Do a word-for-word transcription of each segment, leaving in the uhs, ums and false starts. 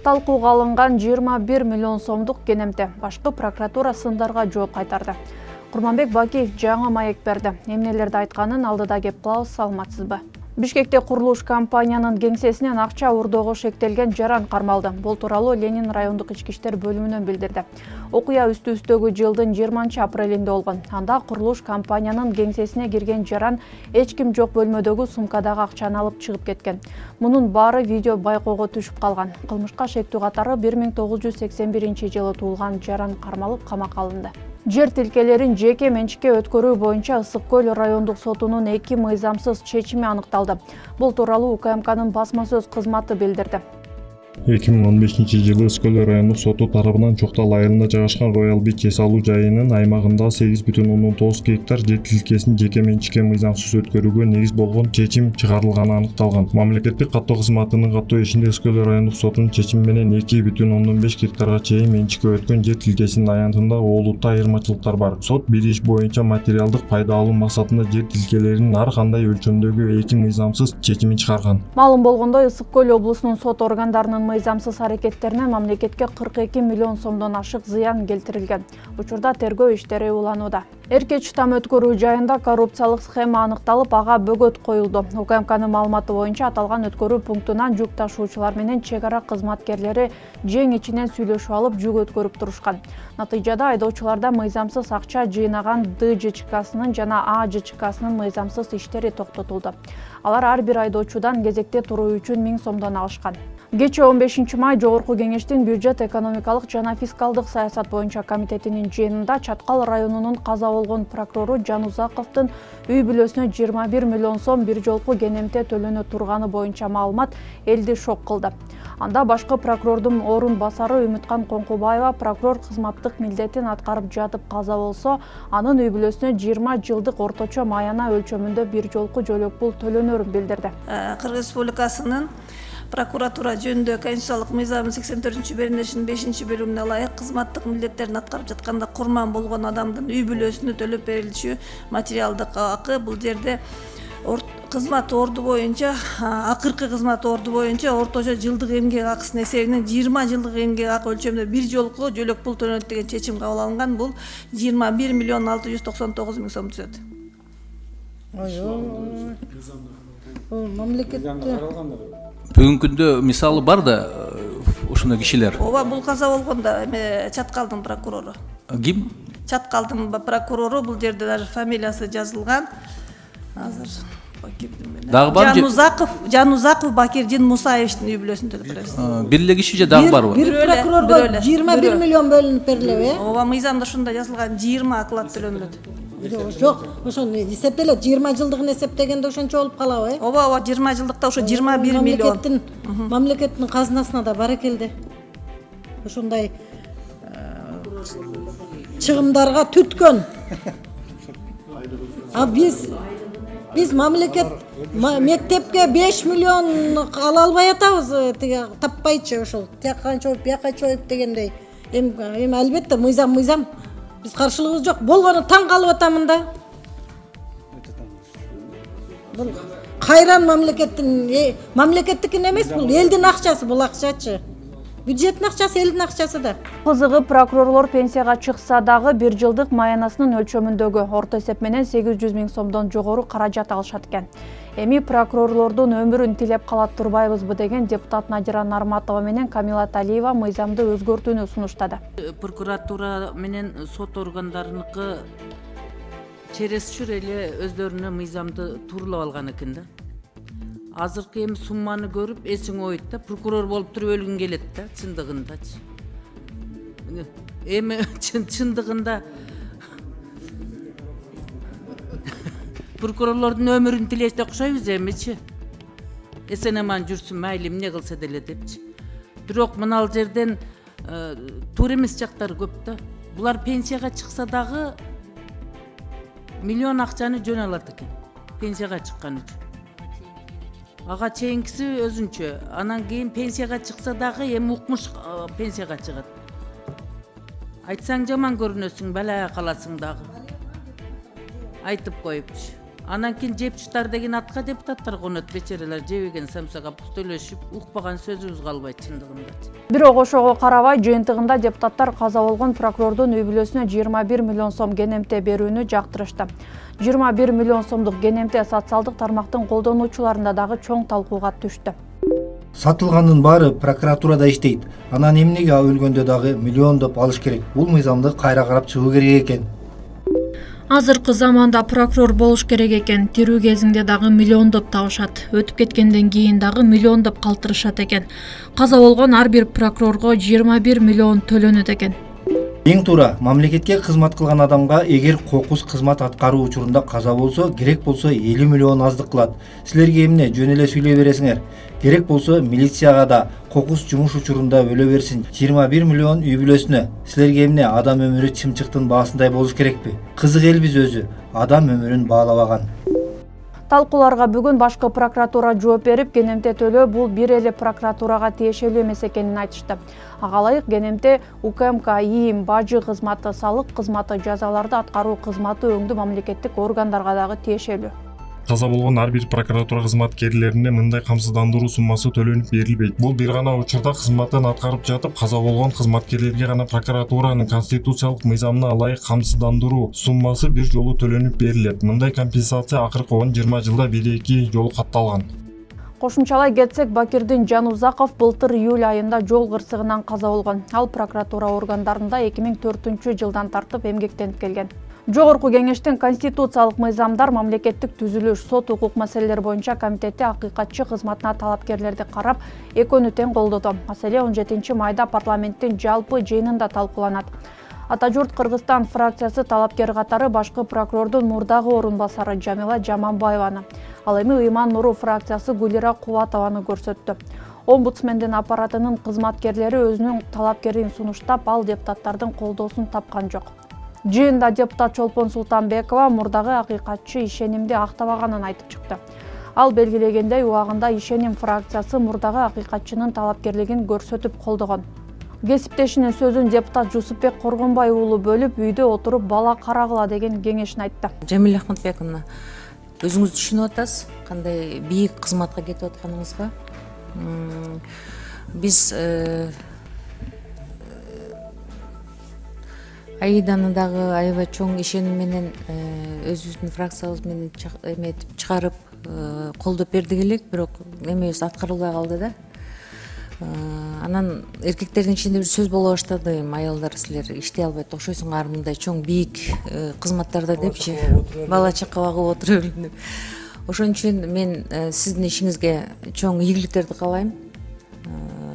Талкууга алынган жыйырма бир миллион сомдук кенемте. Башкы прокуратура сындарга жооп кайтарды. Курманбек Бакиев жаңы маек берди. Эмнелерди айтканын алдыда кеп кылабыз, саламатсызбы? Бишкекте курулуш компаниянын кеңсесинен акча урдоого шектелген жаран кармалды. Бул тууралуу Ленин райондук ички иштер бөлүмүнөн билдирди. Окуя үстү-үстөгү жылдын жыйырманчы апрелинде болгон. Анда курулуш компаниянын кеңсесине кирген жаран эч ким жок бөлмөдөгү сумкадагы акчаны алып чыгып кеткен. Мунун баары видео байкоого түшүп калган. Кылмышка шектүү катары бир миң тогуз жүз сексен биринчи жылы туулган жаран кармалып камакка алынды. Жер тилкелерин жеке менчикке өткөрүү боюнча Ысык Көл райондук сотунун эки мыйзамсыз чечими аныкталды. Бул тууралуу У К М Кнын басма сөз кызматы билдирди. эки миң он бешинчи жылы Ысык Көл райондук соту тарабынан Чоктал айылында жайгашкан Роял Бич эс алуу жайынын аймагында сегиз бүтүн ондон тогуз гектар жер тилкесин жеке менчикке мыйзамсыз өткөрүүгө негиз болгон чечим чыгарылганы аныкталган. Мамлекеттик каттоо кызматынын каттоо ишинде Ысык Көл райондук сотунун чечими менен эки бүтүн ондон беш гектарга чейин менчикке өткөн жер тилкесинин аянтында олуттуу айырмачылыктар бар. Сот бир иш боюнча материалдык пайда алуу максатында жер тилкелеринин ар кандай өлчөмдөгү эки мыйзамсыз чечимин чыгарган. Маалым болгондой, Ысык Көл облусунун сот органдарынын мыйзамсыз аракеттеринен мамлекетке кырк эки миллион сомдон ашык зыян келтирилген. Учурда тергөө иштери уланууда. Эркеч там өткөрүү жайында коррупциялык схема аныкталып, ага бөгөт коюлду. У К М Кнын маалыматы боюнча аталган өткөрүү пунктунан жүк ташуучулар менен чек ара кызматкерлери жең ичинен сүйлөшүп алып жүк өткөрүп турушкан. Натыйжада айдоочуларда мыйзамсыз акча жыйнаган Д Ж Ч Ксынын жана А Ж Ч Ксынын мыйзамсыз иштери токтотулду. Алар ар бир айдоочудан кезекте туруу үчүн миң сомдон алышкан. Кечээ он бешинчи май Жогорку Кеңештин бюджет экономикалык жана фискалдык саясат боюнча комитетинин жыйынында Чаткал районунун каза болгон прокурору Жанузаковдун үй бүлөсүнө жыйырма бир миллион сом бир жолку кенемте төлөнө турганы боюнча маалымат элди шок кылды. Анда башкы прокурордун орун басары Үмүткан Коңкубаева прокурор кызматтык милдетин аткарып жатып каза болсо, анын үй бүлөсүнө жыйырма жылдык орточо маяна өлчөмүндө бир жолку жөлөк пул төлөнөрүн билдирди. Кыргыз Республикасынын прокуратура жөнүндө конституциялык мыйзамдын сексен төртүнчү беренешинин бешинчи бөлүмүнө ылайык кызматтык милдеттерин аткарып жатканда курман болгон адамдын үй бүлөсүнө төлөп берилчү материалдык акы. Бул жерде кызмат орду боюнча, акыркы кызмат орду боюнча орточо жылдык эмгек акысынын эсебинен жыйырма жылдык эмгек акы өлчөмүндө бир жолку жөлөк пул төлөнөт деген чечим кабыл алынган. Бул жыйырма бир миллион алты жүз токсон тогуз миң сом түзөт. Ой, мамлекетте Бүгүнкү күндө мисалы бар да ушундай кишилер. Ооба, бул каза болгондо эме Чаткалдын прокурору. Ким? Чаткалдын прокурору, бул жерде даже фамилиясы жазылган. Азыр Дагы бар? Жанузаков, Жанузаков Бакирдин Мусаевичтин үй бүлөсүн төлөп беребиз. Бир эле киши же дагы барбы? Бир прокурорго жыйырма бир миллион бөлүнүп берилеби? Ооба, мыйзамда ушундай жазылган, жыйырма оклад төлөнүлөт. Жок, ошону эсептелет, жыйырма жылдыгын эсептегенде ошончо болуп калабы, э? Ооба, ооба, жыйырма жылдыкта ошо жыйырма бир миллион. Мамлекеттин мамлекеттин казынасына да бар экелди. Ошондой чыгымдарга түрткөн. А биз биз мамлекет мектепке беш миллион ала албай атабыз, тиги таппайчы ошол. Тияка чоюп, бияка чоюп дегендей. Эми эми албетте мыйзам мыйзам. Биз каршылыгыбыз жок. Болгону таң калып атамын да. Бул кайран мамлекеттин, мамлекеттикин эмес, бул элдин акчасы, бул акчачы. Бюджеттин акчасы, элдин акчасы да. Кызыгы прокурорлор пенсияга чыкса дагы бир жылдык маянасынын өлчөмүндөгү орто эсеп менен сегиз жүз миң сомдон жогору каражат алышат экен. Эми прокурорлордун өмүрүн тилеп калат турбайбызбы деген депутат Надира Нарматова менен Камила Талиева мыйзамды өзгөртүүнү сунуштады. Прокуратура менен сот органдарыныкы чересчур эле өздөрүнө мыйзамды тууралап алган экен да. Азыркы эми сумманы көрүп эсиң ойт да, прокурор болуп туруп өлгүң келет да, чындыгындачы. Эми чындыгында прокурорлордун өмүрүн тилеште окшойбуз эмичи. Эсен аман жүрсүн, майли эмне кылса деле депчи. Бирок мына ал жерден туура эмес жактары көп да. Булар пенсияга чыкса дагы миллион акчаны жөн алат экен. Пенсияга чыккан үчүн. Ага чейинкиси өзүнчө. Анан кийин пенсияга чыкса дагы эми укмуш пенсияга чыгат. Айтсаң жаман көрүнөсүң, бала каласың дагы. Айтып коюпчу. Анан кийин жепчитар деген атка депутаттар конот, бечерелер жебеген самсага пуктөлөшүп, укпаган сөзүбүз калбайт чындыгында. Бирок ошого карабай жыйынтыгында депутаттар каза болгон прокурордун үй бүлөсүнө жыйырма бир миллион сом кенемте берүүнү жактырышты. жыйырма бир миллион сомдук кенемте социалдык тармактын колдонуучуларында дагы чоң талкууга түштү. Сатылгандын баары прокуратурада иштейт. Анан эмнеге өлгөндө дагы миллиондоп алыш керек? Бул мыйзамды кайра карап чыгуу керек экен. Азыркы заманда прокурор болуш керек экен. Тирүү кезинде дагы миллиондоп табышат. Өтүп кеткенден кийин дагы миллиондоп калтырышат экен. Каза болгон ар бир прокурорго жыйырма бир миллион төлөнөт экен. Эң туура, мамлекетке кызмат кылган адамга эгер кокус кызмат аткаруу учурунда каза болсо, керек болсо элүү миллион аздык кылат. Силерге эмне жөн эле сүйлөй бересиңер? Керек болсо милицияга да кокус жумуш учурунда өлө берсин. жыйырма бир миллион үй бүлөсүнө. Силерге эмне адам өмүрү чымчыктын баасындай болуш керекпи? Кызык элбиз өзү. Адам өмүрүн баалабаган. Талкууларга бүгүн башкы прокуратура жооп берип, кенемте төлөө бул бир эле прокуратурага тиешелүү эмес экенин айтышты. Ага ылайык кенемте УКМК, ИИМ, бажы кызматы, салык кызматы, жазаларды аткаруу кызматы өңдүү мамлекеттик органдарга дагы тиешелүү. Каза болгон ар бир прокуратура кызматкерлерине мындай камсыздандыруу суммасы төлөнүп берилбейт. Бул бир гана учурда кызматын аткарып жатып, каза болгон кызматкерлерге гана прокуратуранын конституциялык мыйзамына ылайык камсыздандыруу суммасы бир жолу төлөнүп берилет. Мындай компенсация акыркы он жыйырма жылда бир эки жолу катталган. Кошумчалай кетсек, Бакирдин Жанузаков былтыр июль айында жол кырсыгынан каза болгон. Ал прокуратура органдарында эки миң төртүнчү жылдан тартып эмгектенип келген. Жогорку кеңештин конституциялык мыйзамдар, мамлекеттик түзүлүш, сот укук маселелери боюнча комитети акыйкатчы кызматына талапкерлерди карап, экөөнү тең колдоду. Маселе он жетинчи майда парламенттин жалпы жыйынында талкууланат. Ата журт Кыргызстан фракциясы талапкер катары башкы прокурордун мурдагы орун басары Жамила Жаманбаеваны, ал эми Ыйман Нуру фракциясы Гулира Кубатованы көрсөттү. Омбудсмендин аппаратынын кызматкерлери өзүнүн талапкерин сунуштап, ал депутаттардын колдоосун тапкан жок. Жыйында депутат Чолпон Султанбекова мурдагы акыйкатчы ишенимди актабаганын айтып чыкты. Ал белгилегендей, убагында Ишеним фракциясы мурдагы акыйкатчынын талапкерлигин көрсөтүп колдогон. Кесиптешинин сөзүн депутат Жусупбек Коргонбай уулу бөлүп, үйдө отуруп бала карагыла деген кеңешин айтты. Жамиля Ахматбековна, өзүңүз түшүнүп атасыз, кандай бийик кызматка кетип атканыңызга. Биз Аиданы дагы аябай чоң ишеним менен өзүбүздүн фракциябыз менен эметип чыгарып колдоп бердик элек, бирок эмебиз аткарылбай калды да. Анан эркектердин ичинде бир сөз боло баштады, эми аялдар силер иштей албайт окшойсуңар мындай чоң бийик кызматтарда депчи, бала чака багып отура берем деп. Ошон үчүн мен сиздин ишиңизге чоң ийгиликтерди каалайм.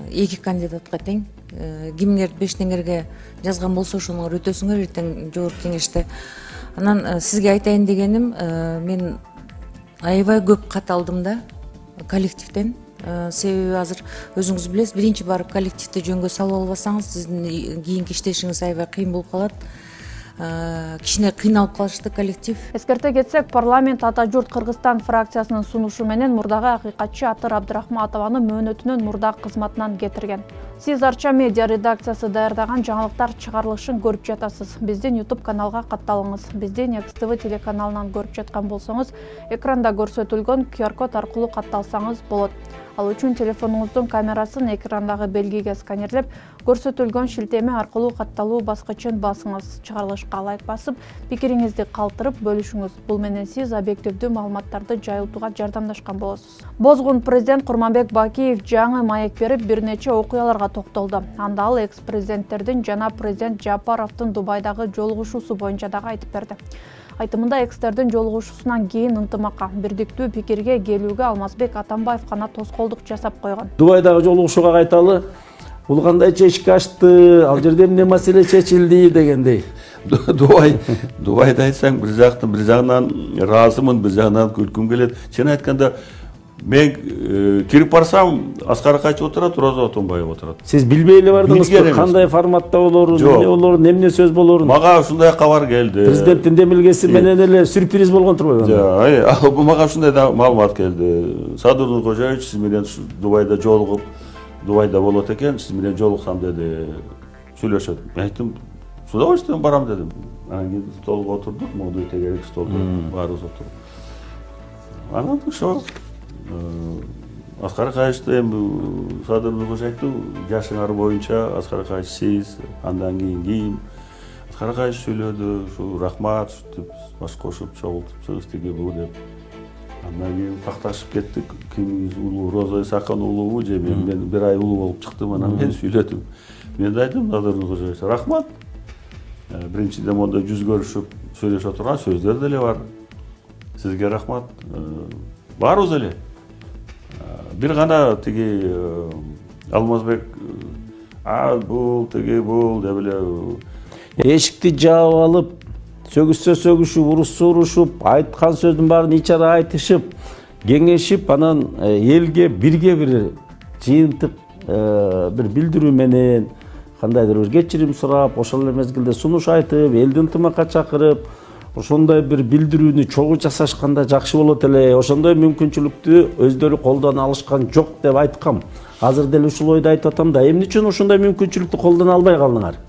Эки кандидатка тең. Кимиңерди беш теңерге жазган болсо ошону өтөсүңөр эртең жогорку кеңеште. Анан сизге айтайын дегеним, мен аябай көп кат алдым да коллективден. Себеби азыр өзүңүз билесиз, биринчи барып коллективди жөнгө салып албасаңыз, сиздин кийинки иштешиңиз аябай кыйын болуп калат. Кичине кыйналып калышты коллектив. Эскерте кетсек, парламент Ата журт Кыргызстан фракциясынын сунушу менен мурдагы акыйкатчы Атыр Абдрахматованы мөөнөтүнөн мурдагы кызматынан кетирген. Сиз Арча медиа редакциясы даярдаган жаңылыктар чыгарылышын көрүп жатасыз. Биздин YouTube каналга катталыңыз. Биздин Экс Тэ Вэ телеканалынан көрүп жаткан болсоңуз, экранда көрсөтүлгөн ку ар код аркылуу катталсаңыз болот. Ал үчүн телефонуңуздун камерасын экрандагы белгиге сканерлеп, көрсөтүлгөн шилтеме аркылуу катталуу баскычын басыңыз. Чыгарылышка лайк басып, пикириңизди калтырып бөлүшүңүз. Бул менен сиз объективдүү маалыматтарды жайылтууга жардамдашкан болосуз. Бозгун президент Курманбек Бакиев жаңы маек берип, бир нече окуяларга токтолду. Анда ал экс-президенттердин жана президент Жапаровдун Дубайдагы жолугушуусу боюнча дагы айтып берди. Айтымында экстердин жолугушуусунан кийин ынтымакка, бирдиктүү пикирге келүүгө Алмазбек Атамбаев гана тоскоолдук жасап койгон. Дубайдагы жолугушууга кайталы, бул кандай чечки ачты, ал жерде эмне маселе чечилди дегендей. Дубай, Дубайда айтсаң, бир жактан бир жагынан ыраазымын, бир жагынан күлкүм келет. Чын айтканда, мен кирип барсам, Аскар Акачев отурат, Роза Отунбаева отурат. Сиз билбей эле бардыңызбы, кандай форматта болорун, эмне болорун, эмне сөз болорун? Мага ушундай кабар келди. Президенттин демилгеси менен эле сюрприз болгон турбайбы? Жок, мага ушундай маалымат келди. Садыр Нуркожаевич сиз менен Дубайда жолугуп, Дубайда болот экен, сиз менен жолуксам деди, сүйлөшөт. Мен айттым, с удовольствием барам дедим. Анан кийин столго отурдук, моңду тегерек столдо баарыбыз отуруп. Анан ошо Аскар Акаевичти эми Садыр Нуркулович айтты, жашыңар боюнча Аскар Акаевич сиз, андан кийин ким? Аскар Акаевич сүйлөдү, ушу рахмат деп баш кошуп чогултуп тиги бу деп. Андан кийин такташып кеттик. Кимиңиз улуу Роза Исакан улуубу же мен мен бир ай улуу болуп чыктым, анан мен сүйлөдүм. Мен да айттым Садыр Нуркулович, рахмат. Биринчиден монда жүз көрүшүп сүйлөшө турган сөздөр деле бар. Сизге рахмат. Барыбыз эле. Бир гана тиги Алмазбек а бул тиги бул деп эле эшикти жаап алып, сөгүшсө сөгүшүп, урушсо урушуп, айткан сөздүн баарын ичара айтышып, кеңешип, анан элге бирге бир жыйынтык бир билдирүү менен кандайдыр бир кечирим сурап, ошол эле мезгилде сунуш айтып, элди ынтымакка чакырып, ошондой бир билдирүүнү чогуу жасашканда жакшы болот эле. Ошондой мүмкүнчүлүктү өздөрү колдоно алышкан жок деп айткам. Азыр деле ушул ойду айтып атам да, эмне үчүн ошондой мүмкүнчүлүктү колдоно албай калдыңар?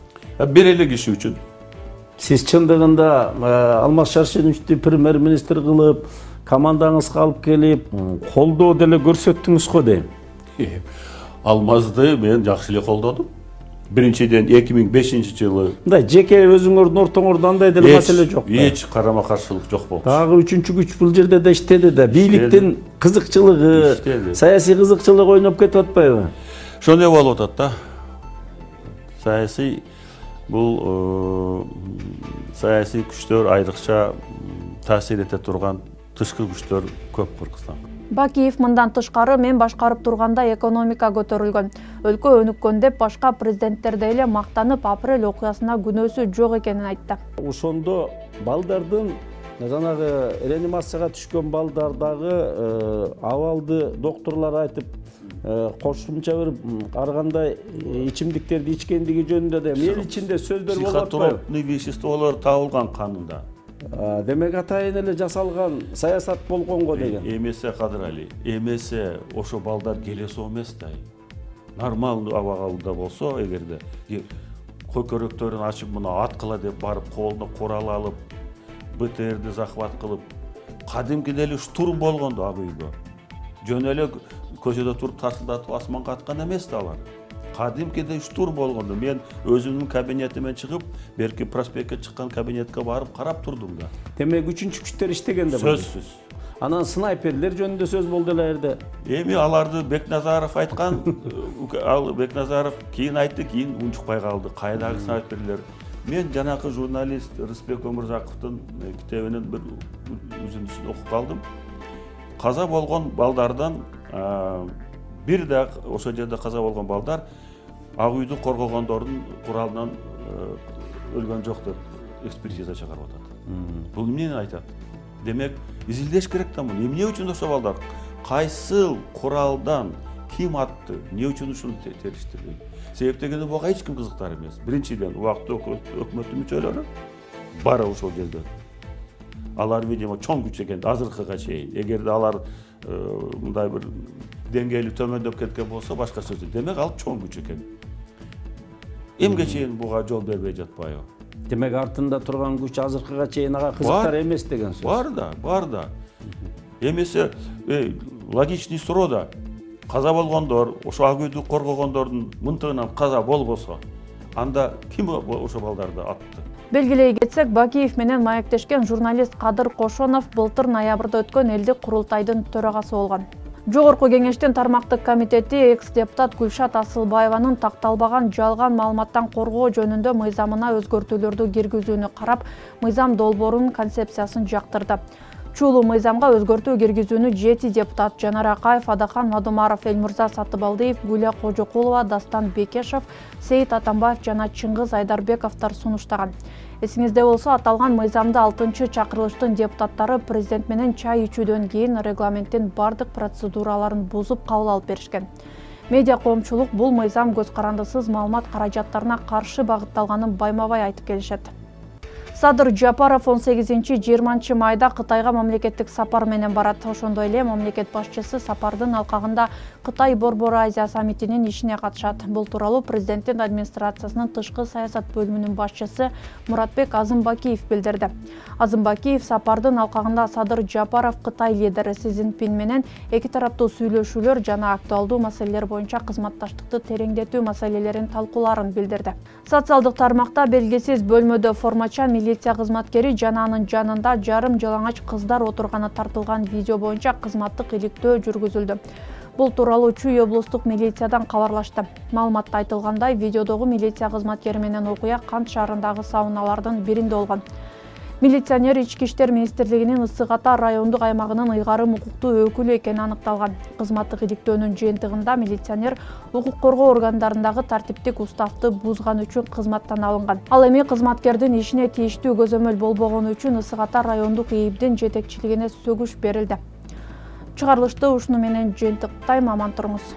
Бир эле киши үчүн. Сиз чындыгында Алмаз Шаршеновичти премьер-министр кылып, командаңызга алып келип, колдоо деле көрсөттүңүз го дейм. Алмазды мен жакшы эле колдодум. Биринчиден эки миң бешинчи жылы. Мындай жеке өзүңөрдүн ортоңордо андай деле маселе жок. Эч карама каршылык жок болчу. Дагы үчүнчү күч бул жерде да иштеди да. Бийликтин кызыкчылыгы, саясий кызыкчылык ойноп кетип атпайбы? Ошондой болуп атат да. Саясий бул саясий күчтөр айрыкча таасир эте турган тышкы күчтөр көп Кыргызстанда. Бакиев мындан тышкары мен башкарып турганда экономика көтөрүлгөн, өлкө өнүккөн деп башка президенттердей эле мактанып апрель окуясына күнөөсү жок экенин айтты. Ошондо балдардын жанагы реанимацияга түшкөн балдардагы абалды докторлор айтып, кошумча бир ар кандай ичимдиктерди ичкендиги жөнүндө да эл ичинде сөздөр болуп атпайбы? Психотропный веществолор табылган канында. Демек атайын эле жасалган саясат болгонго деген. Эмесе Кадыр Али, эмесе ошо балдар келесо эмес да. Нормалдуу абагында болсо, эгерде көкөрөктөрүн ачып мына аткыла деп барып колуна курал алып, БТРди захват кылып, кадимкиде эле штурм болгондо ак үйгө. Жөн эле көчөдө туруп тарсылдатып асманга аткан эмес да алар. Кадимкиде штурм болгондо мен өзүмдүн кабинетимен чыгып, берки проспектке чыккан кабинетке барып карап турдум да. Демек үчүнчү күчтөр иштеген да. Сөзсүз. Анан снайперлер жөнүндө сөз болду эле жерде. Эми аларды Бекназаров айткан, ал Бекназаров кийин айтты, кийин унчукпай калды. Кайдагы снайперлер? Мен жанакы журналист Рыспек Өмүрзаковдун китебинин бир үзүндүсүн окуп калдым. Каза болгон балдардан бир да ошол жерде каза болгон балдар ак үйдү коргогондордун куралынан өлгөн жок деп экспертиза чыгарып атат. Бул эмнени айтат? Демек, изилдеш керек да муну. Эмне үчүн ошо балдар? Кайсыл куралдан ким атты? Эмне үчүн ушуну териштирди? Себеп дегенде буга эч ким кызыктар эмес. Биринчиден, убактылуу өкмөттүн мүчөлөрү бар ошол жерде. Алар видимо чоң күч экен азыркыга чейин. Эгерде алар мындай бир деңгээли төмөндөп кеткен болсо башка сөз. Демек ал чоң күч экен. Эмге чейин буга жол бербей жатпайбы? Демек артында турган күч азыркыга чейин ага кызыктар эмес деген сөз. Бар да, бар да. Эмесе логичный суроо да. Каза болгондор, ошо ак үйдү коргогондордун мынтыгынан каза болбосо, анда ким ошо балдарды атты? Белгилей кетсек, Бакиев менен маектешкен журналист Кадыр Кошонов былтыр ноябрда өткөн элдик курултайдын төрагасы болгон. Жогорку кеңештин тармактык комитети экс-депутат Гүлшат Асылбаеванын такталбаган жалган маалыматтан коргоо жөнүндө мыйзамына өзгөртүүлөрдү киргизүүнү карап, мыйзам долбоорунун концепциясын жактырды. Чулуу мыйзамга өзгөртүү киргизүүнү жети депутат Жанар Акаев, Адахан Мадумаров, Элмурза Сатыбалдиев, Гүлия Кожокулова, Дастан Бекешев, Сейит Атамбаев жана Чыңгыз Айдарбековдор сунуштаган. Эсиңизде болсо, аталган мыйзамды алтынчы чакырылыштын депутаттары президент менен чай ичүүдөн кийин регламенттин бардык процедураларын бузуп кабыл алып беришкен. Медиа коомчулук бул мыйзам көз карандысыз маалымат каражаттарына каршы багытталганын байма-бай айтып келишет. Садыр Жапаров он сегизинчи жыйырманчы майда Кытайга мамлекеттик сапар менен барат. Ошондой эле мамлекет башчысы сапардын алкагында Кытай Борбор Азия саммитинин ишине катышат. Бул тууралуу президенттин администрациясынын тышкы саясат бөлүмүнүн башчысы Муратбек Азымбакиев билдирди. Азымбакиев сапардын алкагында Садыр Жапаров Кытай лидери Си Цзиньпин менен эки тараптуу сүйлөшүүлөр жана актуалдуу маселелер боюнча кызматташтыкты тереңдетүү маселелерин талкуулаарын билдирди. Социалдык тармакта белгисиз бөлмөдө формачан милиция кызматкери жана анын жанында жарым жалаңач кыздар отурганы тартылган видео боюнча кызматтык иликтөө жүргүзүлдү. Бул тууралуу Чүй облустук милициядан кабарлашты. Маалыматта айтылгандай, видеодогу милиция кызматкери менен окуя Кант шаарындагы сауналардын биринде болгон. Милиционер Ички иштер министрлигинин Ысык Ата райондук аймагынын ыйгарым укуктуу өкүлү экени аныкталган. Кызматтык иликтөөнүн жыйынтыгында милиционер укук коргоо органдарындагы тартиптик уставды бузган үчүн кызматтан алынган. Ал эми кызматкердин ишине тийиштүү көзөмөл болбогону үчүн Ысык Ата райондук ИИБдин жетекчилигине сөгүш берилди. Чыгарылышты ушуну менен жыйынтыктайм, аман туруңуз.